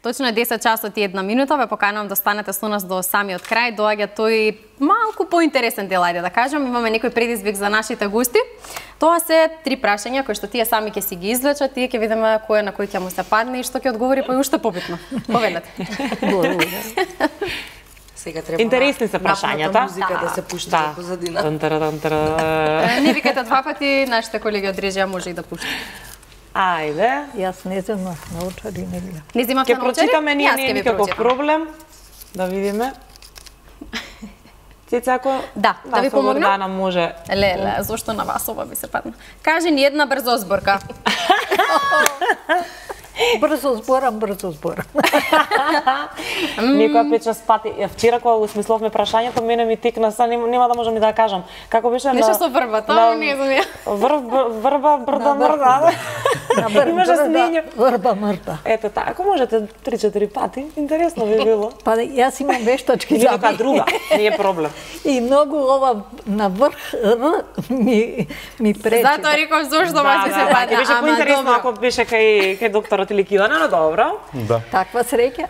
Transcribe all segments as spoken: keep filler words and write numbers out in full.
Точно е десет часот и една минута, ве поканувам да останете со нас до самиот крај. Доаѓа тој малку поинтересен дел, ајде да кажам. Имаме некој предизвик за нашите гости. Тоа се три прашања кои што тие сами ќе си ги извлечат, тие ќе видиме кој на кој ќе му се падне и што ќе одговори па уште побитно. Повелете. Сега треба интересни се прашањата. Музика да се пушта во позадина. Не викате два пати, нашите колеги од режија може и да пуштат. Ајде. Јас не земав научари, не гледам. Не земавте научари? Ќе прочитаме, ние, не е никаков проблем. Да видиме. Цеца, ако да, да ви помогнам? Гордана може. Леле, зошто на вас ова би се падна? Кажи ни една брзо зборка. Брзо зборам, брзо зборам. Некоја пет шест пати. Вчера кога го смисловме прашањето, мене ми текна, са нема да можам ни да кажам. Како беше на... Нешто со врба, тоа не знам ја. Врб, врба, брда, мрда. Имаше снење. Врба, мрда. Ето така, ако можете три-четири пати, интересно би било. Па јас имам вештачки за нека друга, не е проблем. И многу ова на врх ми ми пречи. Затоа реков зошто ма се падна. Беше поинтересно ако беше кај кај докторот или Килана, но добро. Да. Таква среќа.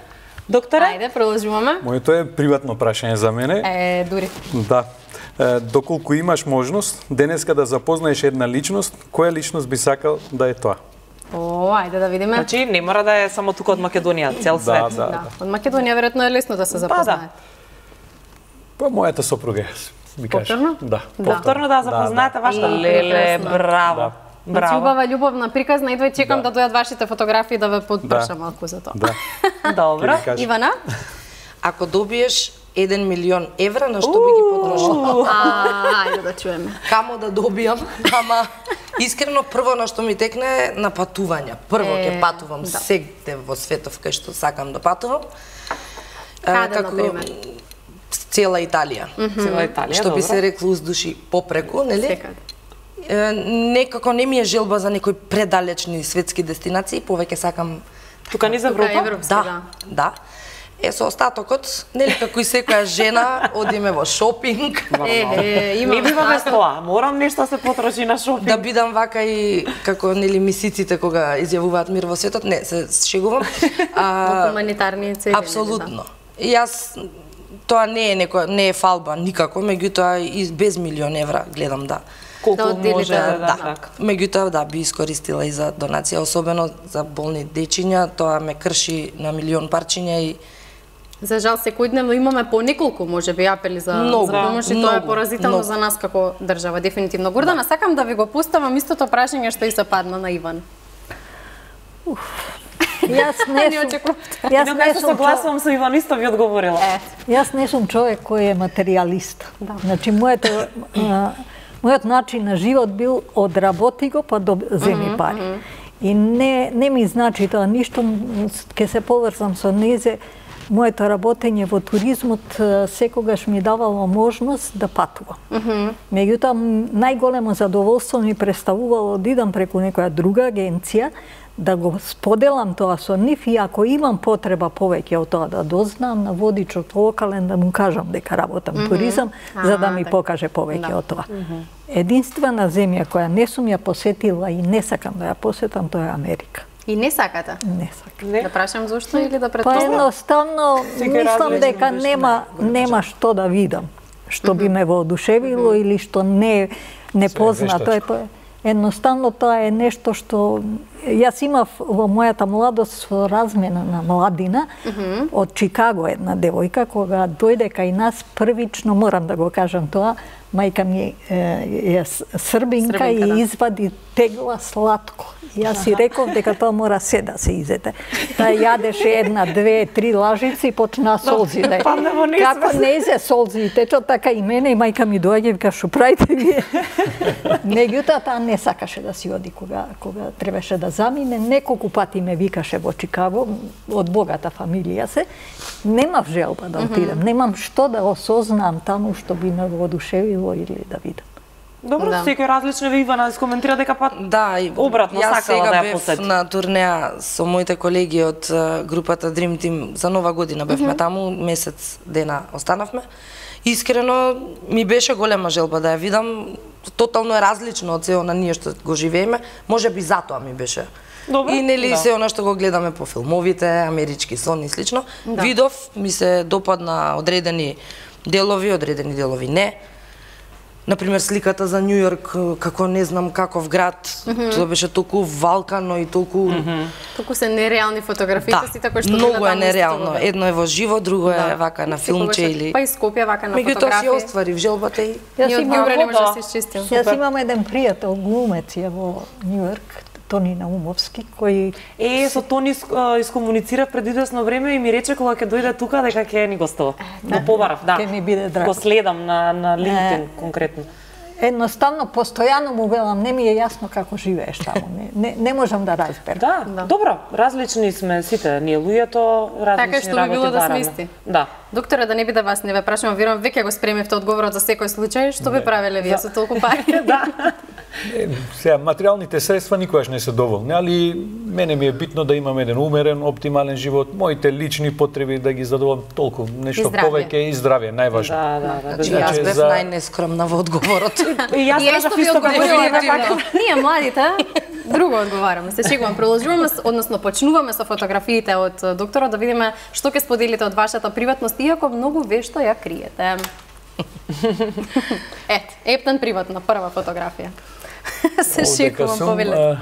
Докторе? Ајде, продолжуваме. Моето е приватно прашање за мене. Е, дури. Да. Е, доколку имаш можност денеска да запознаеш една личност, која личност би сакал да е тоа? О, ајде да видиме. Значи, не мора да е само тука од Македонија, цел свет. Да, да, да. Од Македонија веројатно е лесно да се запознаат. Па мојата сопруга би кажа. Повторно? Да. Повторно да запознаете вашата леле, браво. Значи, убава, љубовна, приказна, идвај, чекам да дојдат вашите фотографии да ве подпрша малку за тоа. Да. Добро. Ивана? Ако добиеш еден милион евра, на што би ги потрошила? Ајде да чуеме. Камо да добијам, ама искрено прво на што ми текне е на патувања. Прво ќе патувам сегде во светов кај што сакам да патувам. Каде, например? Цела Италија. Цела Италија, што би се рекло уздуши попреку, нели? Секаде. Некако не ми е желба за некои предалечни светски дестинации, повеќе сакам тука низ Европа. Европски, да, да. Е, со остатокот, нели како и секоја жена, одиме во шопинг. Е, е, имам. Не биваме тоа, морам нешто се потроши на шопинг. Да бидам вака и како нели мисиците кога изјавуваат мир во светот, не, се шегувам. Во хуманитарни цели. Апсолутно. И јас тоа не е некоја, не е фалба никако, меѓутоа и без милион евра гледам да колку да може да, да, да. Меѓутоа да би искористила и за донација, особено за болни дечиња, тоа ме крши на милион парчиња и за жал секојдневно имаме по неколку можеби апели за много, за помош и тоа е поразително за нас како држава, дефинитивно. Гордана, да. Сакам да ви го пуставам истото прашање што и се падна на Иван. Уф. Јас не сум. Јас не сум согласувам со Иван, исто ви одговорила. Е. Јас не сум човек кој е материјалист. Да. Значи моето мојот начин на живот бил одработи го па земи пари. Mm -hmm. И не не ми значи тоа ништо, ќе се поврзам со незе. Моето работење во туризмот секогаш ми давало можност да патувам. Mm -hmm. Меѓутоа, најголемо задоволство ми представувало да идам преку некоја друга агенција, да го споделам тоа со нив и ако имам потреба повеќе од тоа да дознам на водичот локален, да му кажам дека работам mm -hmm. туризам, а, за да ми так. покаже повеќе да. од тоа. Mm -hmm. Единствена земја која не сум ја посетила и не сакам да ја посетам, тоа е Америка. И не сакате? Не сакам. Не? Да прашам зошто или да претпоставам? Па едноставно мислам дека нема нема што да видам, што би ме воодушевило mm -hmm. или што не не позна. Тоа е едноставно тоа е нешто што јас имав во мојата младост со размена на младина mm -hmm. од Чикаго една девојка кога дојде кај нас првично, морам да го кажам тоа, мајка ми е србинка, србинка и да. извади тегла сладко. Јас си реков дека тоа мора се да се изете. Таа јадеше една, две, три лажици и почна солзи да. Како не изе солзи и течат, така и мене и мајка ми доаѓа и вика што правите вие. Меѓутоа таа не сакаше да си оди кога кога требаше да замине. Неколку пати ме викаше во Чикаго, од богата фамилија се. Немав желба да отидам, немам што да осознам таму што би ме воодушевило или да видам. Добро, да. Секој различно ви Ивана скоментира дека па да, и обратно сакала да ја посети. Јас сега бев на турнеа со моите колеги од групата Dream Team за Нова година бевме mm -hmm. таму, месец дена останавме. Искрено ми беше голема желба да ја видам, тотално е различно од се она ние што го живееме, можеби затоа ми беше Добро. И нели Да. се она што го гледаме по филмовите, амерички сон и слично. Да. Видов, ми се допадна одредени делови, одредени делови не. Например, сликата за Њу Јорк, како не знам каков град, mm-hmm. тоа беше толку валкано и толку... Mm-hmm. Толку се нереални фотографиите Да, сите кои што многу биле е таму нереално. исто. Едно е во живо, друго е Да. вака на Секогаш филмче е- или... Па и Скопје вака на Меѓутоа фотографија. си оствари желбата и... Јас Ние од имам, Њубре не може да да. се изчистим. јас имам еден пријател глумец е во Њујорк, Тони Наумовски, кој Е, со Тони ис- а, искомуницирав пред извесно време и ми рече кога ќе дојде тука дека ќе ни гостува. Го побарав, да. ќе ми биде драго. Го следам на на LinkedIn Е. конкретно. Едноставно, постојано му велам, не ми е јасно како живееш таму. Не, не, не можам да разберам. Да, Да. добро, различни сме сите, ние луѓето, различни Така што би работи било да бараме. смисти. Да. Докторе, да не би да вас не ве прашувам, верувам веќе го спремивте одговорот за секој случај, што би правеле вие со толку пари? Да. Е, сега, материјалните средства никогаш не се доволни, али мене ми е битно да имам еден умерен, оптимален живот, моите лични потреби да ги задоволам толку, нешто И здравје. повеќе и здравје, најважно. Да, да, да. Значи, да. јас Значи, бев за- најнескромна во одговорот. И јас И кажав што ви исто одговорила како активно. Ние младите друго одговараме. Се шегувам, продолжуваме, с- односно почнуваме со фотографиите од докторот да видиме што ќе споделите од вашата приватност, иако многу вешто ја криете. Ет, ептен приватна прва фотографија. Се шегувам повелете.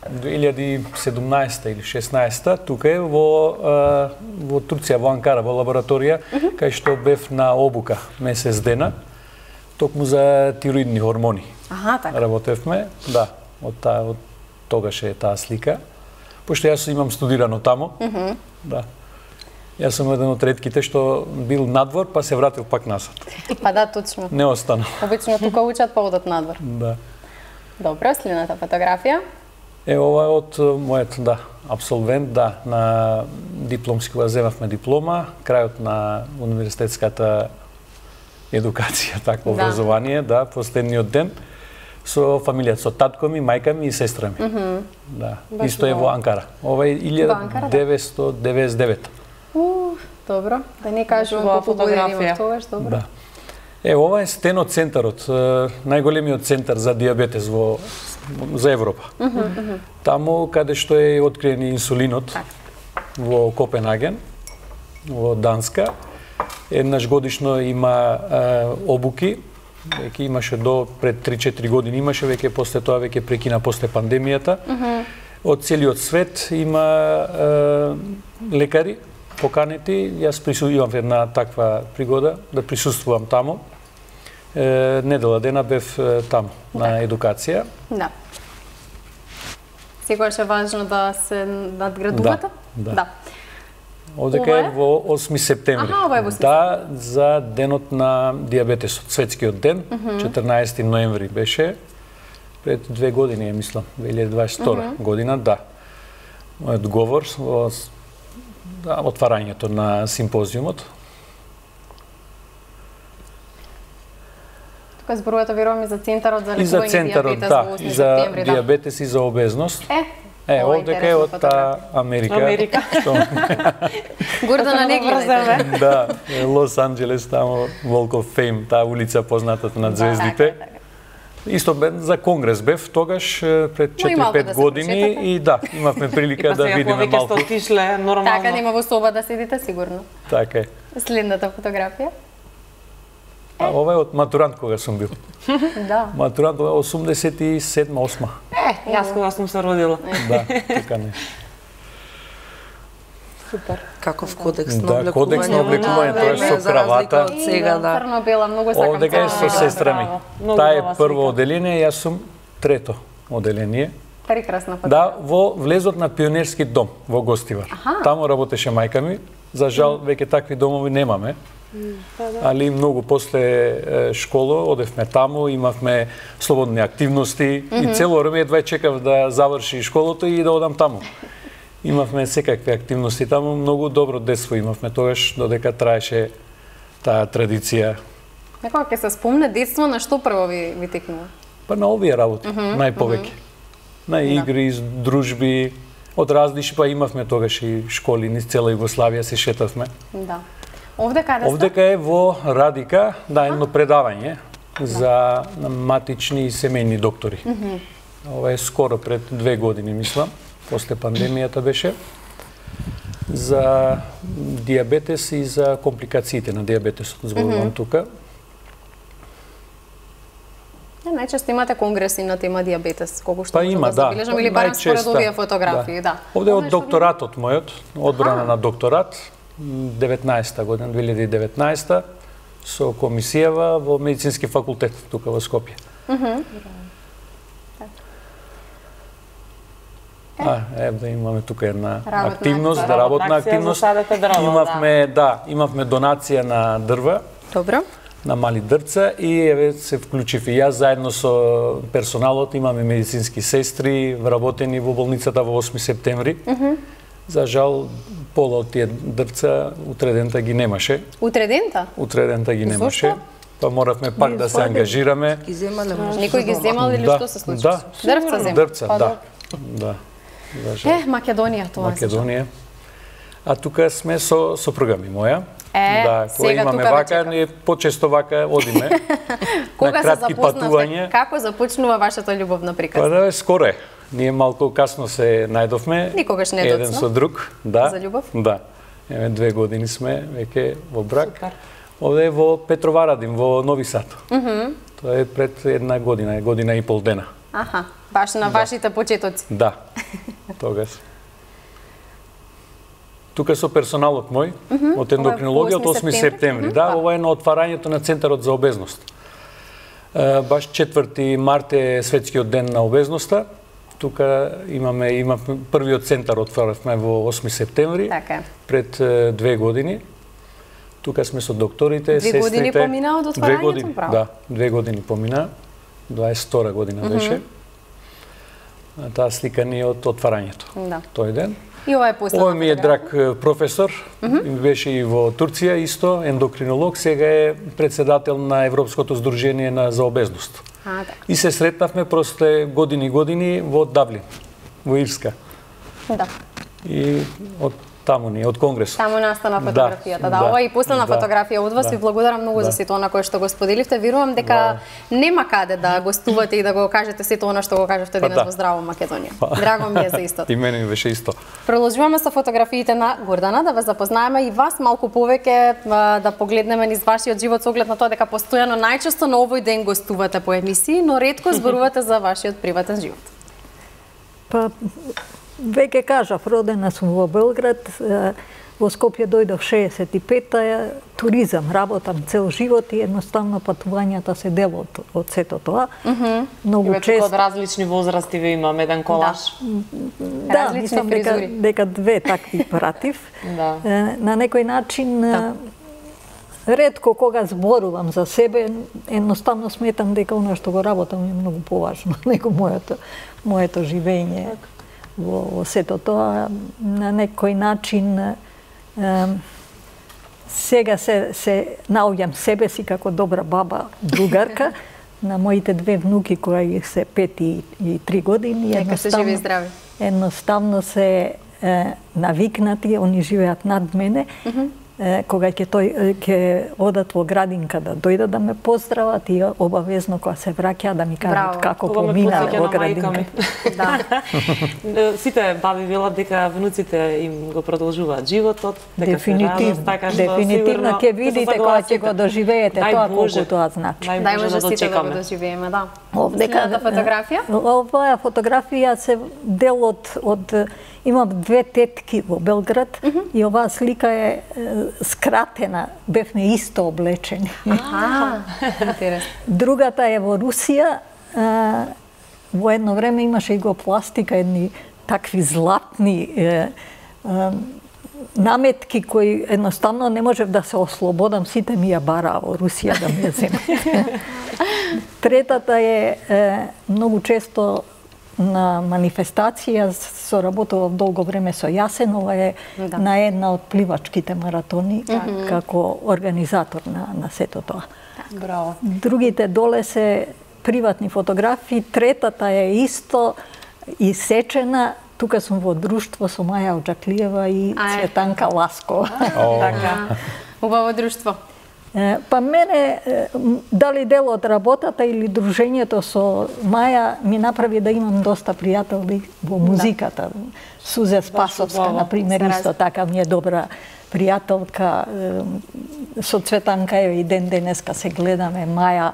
две илјади и седумнаесета или шеснаесета тука е во а, во Турција, во Анкара, во лабораторија, кај што бев на обука месец дена, токму за тироидни хормони. Аха, така. Работевме, да, од таа од тогаш е таа слика. Пошто јас имам студирано таму. Да. Јас сум еден од ретките што бил надвор, па се вратил пак назад. Па да, точно. Не останал. Обично тука учат па одат надвор. Да. Добро, следната фотографија. Е, ова е од е, мојот, да, абсолвент, да, на дипломски, кога земавме диплома, крајот на универзитетската едукација, такво Да. образование, да, последниот ден, со фамилијата, со татко ми, мајка ми и сестра ми. Да, Баш исто е во- во Анкара. Ова е Во Анкара, да. илјада деветстотини деветдесет и девета. Уф, добро. Да не кажувам Убава колку години фотографија. имав тогаш, добро. Да. Е, ова е стено центарот, е, најголемиот центар за диабетес во за Европа. Таму каде што е откриен инсулинот Така. во Копенхаген, во Данска. Еднаш годишно има е, обуки, веќе имаше до пред три-четири години имаше, веќе после тоа веќе прекина после пандемијата. Од целиот свет има е, лекари поканети. Јас присуствувам една таква пригода да присуствувам таму. Е, недела дена бев е, таму на едукација. Да. Секогаш е важно да се надградувате? Да, да. да. Овдека Ова е е? во осми септември. Аха, ова е во осми Да, за денот на диабетесот, светскиот ден, четрнаесети ноември беше, пред две години, е, мислам, две илјади дваесет и втора година, да. Мојот говор во с- да, отварањето на симпозиумот. Тука зборувате верувам и за центарот за И за лекување центарот, диабетес да, во осми и за септември, да. диабетес и за обезност. Е, Е, ова е овдека е интересна од таа фотографија. Америка. Америка. Што, Гордана не гледате. да, е, Лос Анџелес, таму Walk of Fame, таа улица позната на звездите. Така, така. Исто бе за конгрес бев тогаш е, пред Но и малку четири-пет да се години прошетате. и да, имавме И прилика па да сега кога видиме веќе сте малку. отишле, нормално. Така, нема во соба да седите сигурно. Така е. Следната фотографија. А ова е од матурант кога сум бил. Да. Матурант ова е осумдесет и седма осма. Е, јас кога сум се родила. Да, така не. Супер. Каков кодекс на Да, облекување. кодекс на облекување, тоа е со за разлика кравата. од сега, да. Црно-бела, многу сакам. Овдека е црно-бела. со сестра ми. браво. Многу Таа е убава прво слика. оделение, јас сум трето оделение. Прекрасна фотографија. Да, во влезот на пионерски дом во Гостивар. Таму работеше мајка ми. За жал, веќе такви домови немаме. Али многу после е, школа одевме таму, имавме слободни активности и цело време едва чекав да заврши школото и да одам таму. Имавме секакви активности таму, многу добро детство имавме тогаш, додека траеше таа традиција. Некоја ќе се спомне детство, на што прво ви, ви текнува? Па на овие работи, најповеќе. На игри, дружби, од различни, па имавме тогаш и школи низ цела Југославија, се шетавме. Да. Овде каде сте? Овдека е во Радика, да, едно предавање за матични и семејни доктори. Ова е скоро пред две години, мислам. после пандемијата беше, за диабетес и за компликациите на диабетесот, зборувам mm -hmm. тука. Најчесто имате конгреси на тема диабетес, колку што па можам има, да забележам, или барам според овие фотографии, да. да. Овде од докторатот мојот, одбрана на докторат, деветнаесета година, две илјади и деветнаесета, со комисијава во медицински факултет тука во Скопје. Mm -hmm. А, е, да имаме тука една работна активност, да, работна активност. Имавме, да, имавме донација на дрва. Добро. На мали дрвца и еве се вклучив и јас заедно со персоналот, имаме медицински сестри вработени во болницата во осми септември. Mm -hmm. За жал пола од тие дрвца утредента ги немаше. Утредента? Утредента ги немаше. Зошто? Па моравме пак да се ангажираме. Ги земале, Никој ги земал или да, што се случи? Да. Дрвца земал. Дрвца, да. Да. Е, Македонија тоа. Македонија. А тука сме со сопруга ми моја. Е, да, кога имаме вака, ние почесто вака одиме. Кога на кратки се патувања. Како започнува вашата љубовна приказна? Па да, скоро е. Ние малку касно се најдовме. Никогаш не еден со друг, да. За љубов? Да. Еве две години сме веќе во брак. Супер. Овде во Петроварадин, во Нови Сад. Mm -hmm. Тоа е пред една година, година и пол дена. Аха, баш на да. Вашите почетоци. Да. Тогаш. Тука со персоналот мој, mm -hmm. од ендокринологија од осми септември. Mm -hmm. Да, ова е на отварањето на Центарот за обезност. Баш четврти март е светскиот ден на обезноста. Тука имаме имаме првиот центар отворивме во осми септември. Така. Пред две години. Тука сме со докторите, две сестрите. Две години помина од отварањето, две години, право? Да, две години помина. дваесет и втора година mm -hmm. беше. Таа слика ни од отварањето. Да. Тој ден. И ова е последна. Овој ми е драг професор, mm -hmm. беше и во Турција исто, ендокринолог, сега е председател на Европското здружение на за обезност. А, така. И се сретнавме после години години во Даблин, во Ирска. Да. И од таму ни, од Конгресот. Таму настана фотографијата. Да, да, да. Ова е и последна да. фотографија од вас. Да. Ви благодарам многу да. за сето она кое што го споделивте. Верувам дека да. нема каде да гостувате и да го кажете сето она што го кажавте денес да. во Здраво Македонија. Па. Драго ми е за истото. И мене ми беше исто. Продолжуваме со фотографиите на Гордана, да ве запознаеме и вас малку повеќе, да погледнеме низ вашиот живот со оглед на тоа дека постојано најчесто на овој ден гостувате по емисии, но ретко зборувате за вашиот приватен живот. Па веќе кажав, родена сум во Белград, во Скопје дојдов шеесет и пета, туризам, работам цел живот и едноставно патувањата се дел од, од сето тоа. Mm -hmm. Многу често од различни возрасти ви имам еден колаж. Да, да мислам дека, дека две такви пратив. Да. На некој начин да. Ретко кога зборувам за себе, едноставно сметам дека она што го работам е многу поважно него моето моето живење. Так. Во, во сето тоа, на некој начин е, сега се, се наоѓам себе си како добра баба, другарка, на моите две внуки кои се пет и, и три години. Нека се живи и здрави. Едноставно се е, навикнати, они живеат над мене. Mm -hmm. Кога ќе тој ќе одат во градинка да дојдат да ме поздрават и обавезно кога се враќаат да ми кажат како помина во градинка. Да. Сите баби велат дека внуците им го продолжуваат животот, дека дефинитивно, се радост, така што дефинитивно ќе видите кога ќе го доживеете тоа колку тоа значи. Дај може сите да го доживееме, да. Овдека фотографија? Оваа фотографија се дел од од имам две тетки во Белград mm -hmm. и оваа слика е скратена, бевме исто облечени. Аха, интересно. Другата е во Русија, а, во едно време имаше иглопластика, едни такви златни е, а, наметки кои едноставно не можев да се ослободам, сите ми ја бараа во Русија да ми ја земат. Третата е, е многу често на манифестација, соработував долго време со Јасенова, е да. на една од пливачките маратони, mm -hmm. како организатор на, на сето тоа. Браво. Другите доле се приватни фотографии, третата е исто исечена, тука сум во друштво со Маја Оджаклиева и Цветанка Ласкова. Така. Убаво друштво. Па мене, дали дел од работата или дружењето со Маја ми направи да имам доста пријатели во музиката. Да. Сузе Спасовска, например, исто така ми е добра пријателка. Со Цветанка и ден денеска се гледаме. Маја,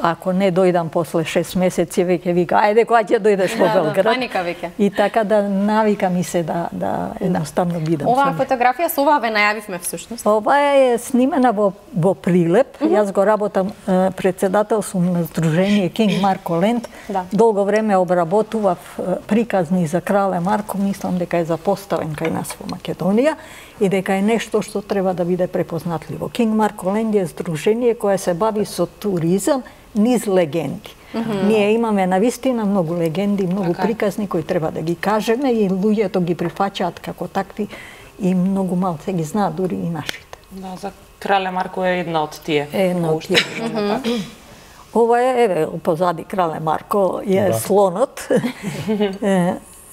ако не дојдам после шест месеци, веќе вика, ајде, кога ќе дојдеш во Белград? Паника веќе. И така да навика ми се да, да едноставно бидам. Оваа фотографија со оваа ве најавивме всушност. Оваа е снимена во, во Прилеп. Mm -hmm. Јас го работам, председател сум на Сдружение Кинг Марко Ленд. Да. Долго време обработував приказни за Крале Марко, мислам дека е запоставен кај нас во Македонија и дека е нешто што треба да биде препознатливо. Кинг Марко Ленд е здружение кое се бави со туризам низ легенди. Mm -hmm. Ние имаме навистина многу легенди, многу okay. приказни кои треба да ги кажеме и луѓето ги прифаќаат како такви и многу малце ги знаат дури и нашите. Да, за Крале Марко е една од тие. Една од тие. Mm -hmm. Ова е, еве, позади Крале Марко е да. Слонот.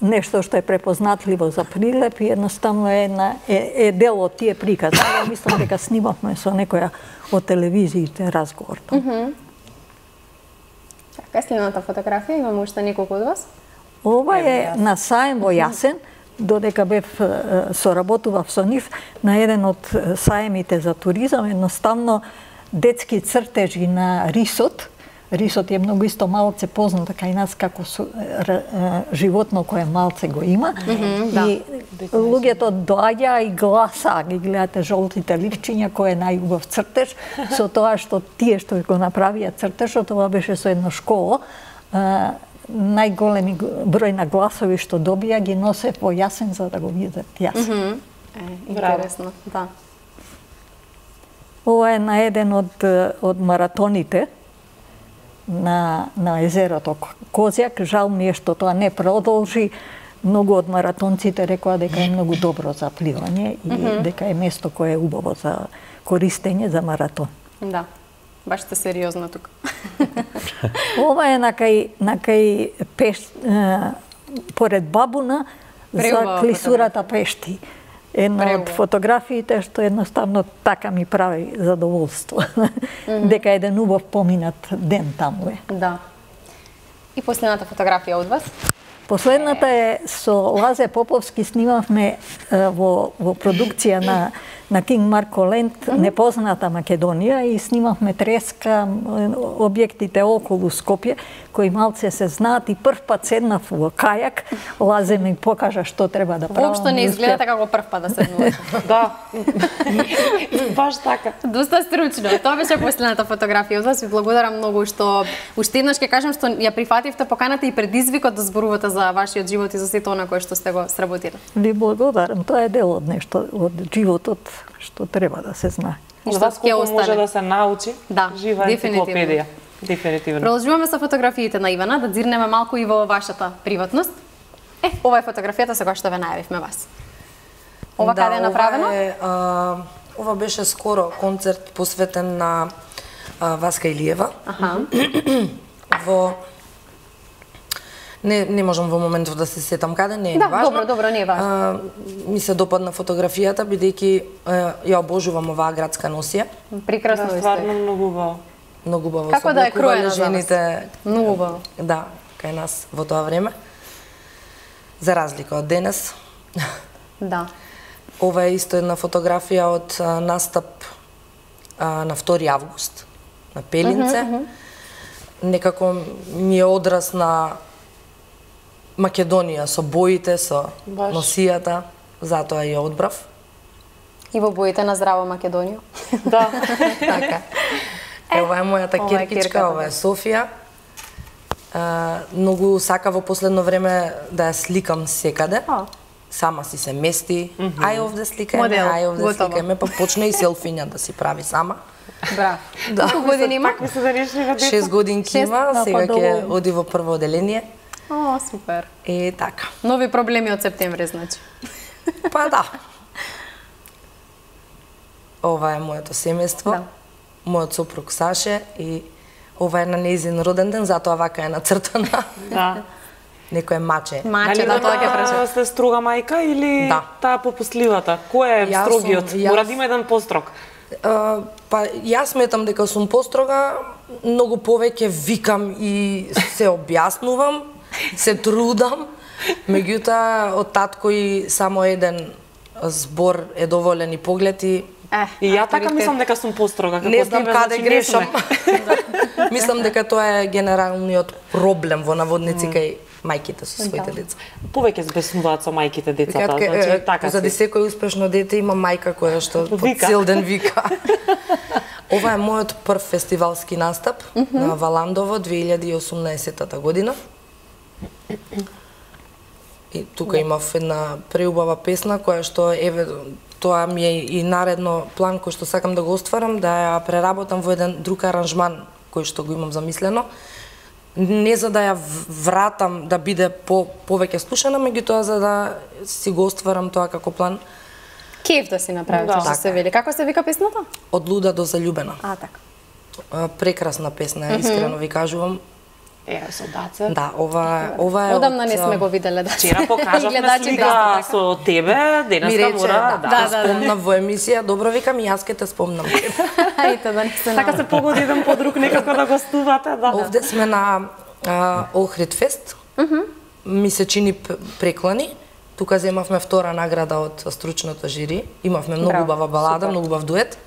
Нешто што е препознатливо за Прилеп и едноставно е, една, е, е дел од тие приказни. Ја мислам дека снимавме со некоја од телевизиите разговор. Mm -hmm. Така, следната фотографија, имаме уште неколку од вас? Ова е на саем во Јасен, додека бев соработував со нив на еден од саемите за туризам, едноставно детски цртежи на рисот. Рисот е многу исто малце позната кај нас како со, р, животно кое малце го има. Mm -hmm, и да. Луѓето доаѓа и гласа, ги гледате жолтите ливчиња кој е најубав цртеж, со тоа што тие што го направија цртежот, тоа беше со едно школо. А, најголеми број на гласови што добија ги носе во Јасен за да го видат Јасен. Mm -hmm. Е, интересно, да. Ова е на еден од, од маратоните на, на езерото Козјак. Жал ми е што тоа не продолжи. Многу од маратонците рекоа дека е многу добро за пливање и mm -hmm. дека е место кое е убаво за користење за маратон. Да, баш сте сериозно тука. Ова е на кај, на кај пеш, е, поред Бабуна за клисурата Пешти. Една Преубаво. Од фотографиите што едноставно така ми прави задоволство. Mm -hmm. Дека еден убав поминат ден таму е. Да. И последната фотографија од вас? Последната е со Лазе Поповски, снимавме во, во продукција на, на Кинг Марко Ленд, mm -hmm. Непозната Македонија, и снимавме треска, објектите околу Скопје, кои малце се знаат, и прв пат седнав во кајак, Лазе ми покажа што треба да правам. Воопшто не изгледате како прв пат да седнувате. Да, баш така. Доста стручно. Тоа беше последната фотографија од вас. Ви благодарам многу што уште еднаш ќе кажам што ја прифативте поканата и предизвикот да зборувате за вашиот живот и за сето она кое што сте го сработиле. Ви благодарам. Тоа е дел од нешто од животот што треба да се знае. За вас колку може да се научи, да, жива енциклопедија. Дефинитивно. Продолжуваме со фотографиите на Ивана, да дзирнеме малку и во вашата приватност. Е, ова е фотографијата со која што ве најавивме вас. Ова да, каде е направено? Ова, е, а, ова беше скоро концерт посветен на а, Васка Илиева. Аха. Во Не, не можам во моментов да се сетам каде, не е да, важно. Добро, добро, не е важно. А, ми се допадна фотографијата, бидејќи ја обожувам оваа градска носија. Прекрасно да, стварно многу убаво. Многу убаво. Како да е кроена жените. Многу убаво. Да, кај нас во тоа време. За разлика од денес. Да. Ова е исто една фотографија од а, настап а, на втори август на Пелинце. Uh -huh, uh -huh. Некако ми е одраз на Македонија со боите, со Баш. Носијата, затоа ја одбрав. И во боите на здрава Македонија. Да, така. Е, ова е мојата киркичка, ова е Софија. А, многу сака во последно време да ја сликам секаде. А. Сама си се мести, mm -hmm. ај овде сликајме, ај овде сликајме, па почне и селфиња да си прави сама. Браво. Да. Колку години има? Шест годинки има, сега ќе оди во прво оделение. О, супер. И така. Нови проблеми од септември, значи. Па да. Ова е моето семејство, да. Мојот сопруг Саше, и ова е на нејзин роден ден, затоа вака е нацртана. Да. Некој маче. Маче, да, тоа ќе прашам. Сте строга мајка или да. Таа попустливата? Кој е јас строгиот? Сум, јас... Мора да има еден построг. А, па јас сметам дека сум построга, многу повеќе викам и се објаснувам, се трудам. Меѓутоа од татко и само еден збор е доволен и поглед и Е, И ја така мислам дека сум построга. не знам каде грешам. Мислам дека тоа е генералниот проблем во наводници кај мајките со своите деца. Повеќе збеснуваат со мајките децата, Така, значи така заради си. секој успешно дете има мајка која што по Вика. цел ден вика. Ова е мојот прв фестивалски настап на Валандово две илјади и осумнаесетта година. И тука имав една преубава песна која што еве тоа ми е и наредно план кој што сакам да го остварам, да ја преработам во еден друг аранжман кој што го имам замислено. Не за да ја вратам да биде по повеќе слушана, меѓутоа за да си го остварам тоа како план. Кеф да си направи, Да. што се вели. Како се вика песната? Од луда до заљубена. А, така. А, Прекрасна песна, е, искрено ви кажувам. Е, со Даце. Да, ова ова е Одамна од, не сме а, го виделе да. Вчера покажавме Гледачите слика исто така. со тебе, Ми денеска рече, мора, да, да. да, да. спомнам во емисија, добро викам и јас ке те спомнам. Ајде да не се Така се погоди еден по друг некако да гостувате, да. Овде сме на а, Охрид фест. Ми се чини п- преклани. Тука земавме втора награда од стручното жири. Имавме многу Браво, убава балада, супер. многу убав дует.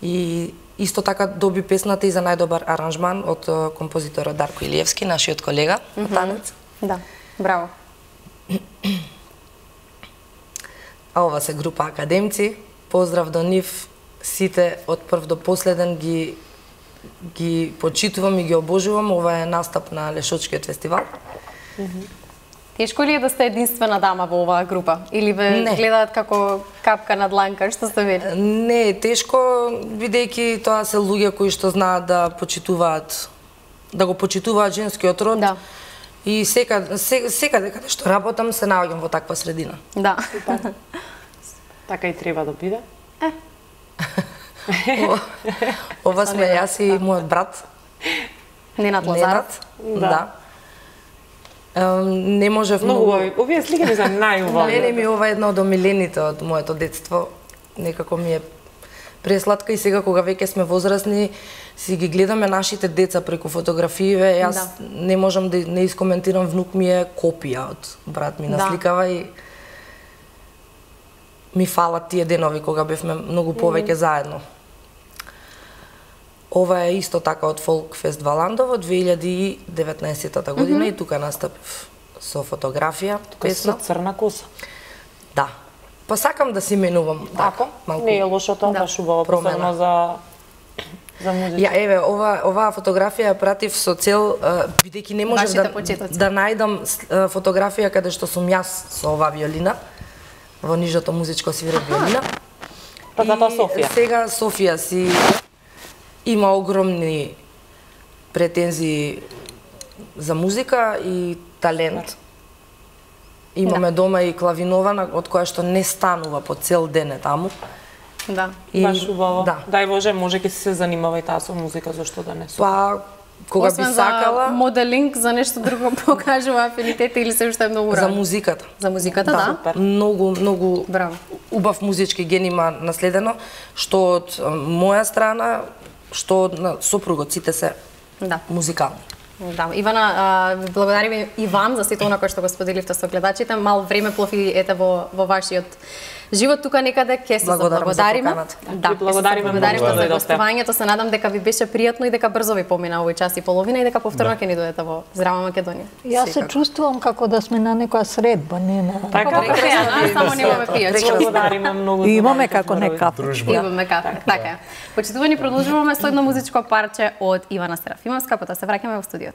И исто така доби песната и за најдобар аранжман од а, композиторот Дарко Илиевски, нашиот колега на танец. Да, браво. А ова се група академци. Поздрав до нив. Сите од прв до последен ги ги почитувам и ги обожувам. Ова е настап на Лешочкиот фестивал. Тешко ли е да сте единствена дама во оваа група? Или ве Не. гледаат како капка на дланка, што сте вели? Не е тешко, бидејќи тоа се луѓе кои што знаат да почитуваат, да го почитуваат женскиот род. Да. И секаде, се, секаде каде што работам се наоѓам во таква средина. Да. Така и треба да биде. Ова, ова сме јас и мојот брат Ненад Лазаров. Ненад. Да. Ем, Не можев Многу многу. убави. Овие слики ми се најубави. Мене ми ова е една од омилените од моето детство. Некако ми е пресладка и сега кога веќе сме возрастни си ги гледаме нашите деца преку фотографии, јас Да. не можам да не искоментирам, внук ми е копија од брат ми Да. насликава и ми фалат тие денови кога бевме многу повеќе заедно. Ова е исто така од Фолк Фест Валандово две илјади и деветнаесетта година и тука настапив со фотографија, Со песна. црна коса. Да. Па сакам да си менувам така, малку. Не е лошо тоа, Да. баш убаво, Промена. посебно за за музика. Ја еве ова оваа фотографија ја пратив со цел а, бидејќи не можев Вашите да почетоци. да најдам с- а, фотографија каде што сум јас со оваа виолина во нижото музичко свирам виолина. Па затоа И Софија. Сега Софија си има огромни претензии за музика и талент. Имаме дома и клавинована од која што не станува по цел ден е таму. Да. И, Баш убаво. Да. Дај Боже, може ќе си се занимава и таа со музика, зашто да не со. Па кога Освен би сакала за моделинг, за нешто друго покажува афинитета или се уште е многу за рано? музиката. За музиката, да. Супер. Многу, многу Браво. убав музички ген има наследено, што од а, моја страна, што од на сопругот, сите се Да. музикални. Да, Ивана, а, ви благодариме и вам за сето она кое што го споделивте со гледачите. Мал време плови ете во во вашиот живот тука некаде, ќе се Благодарам за заблагодариме. поканата. Да, Ви благодариме ќе се благодариме многу што за дојдовте. гостувањето. Се надам дека ви беше пријатно и дека брзо ви помина овој час и половина и дека повторно ќе ни дојдете во Здрава Македонија. Јас се Секако. чувствувам како да сме на некоја средба, не на... Така, Прекрасно, само немаме пијачки. благодариме многу. за Имаме вашите како не зборови. кафе. Дружба. Имаме кафе. Така е. Почитувани, продолжуваме со едно музичко парче од Ивана Серафимовска, потоа се враќаме во студиото.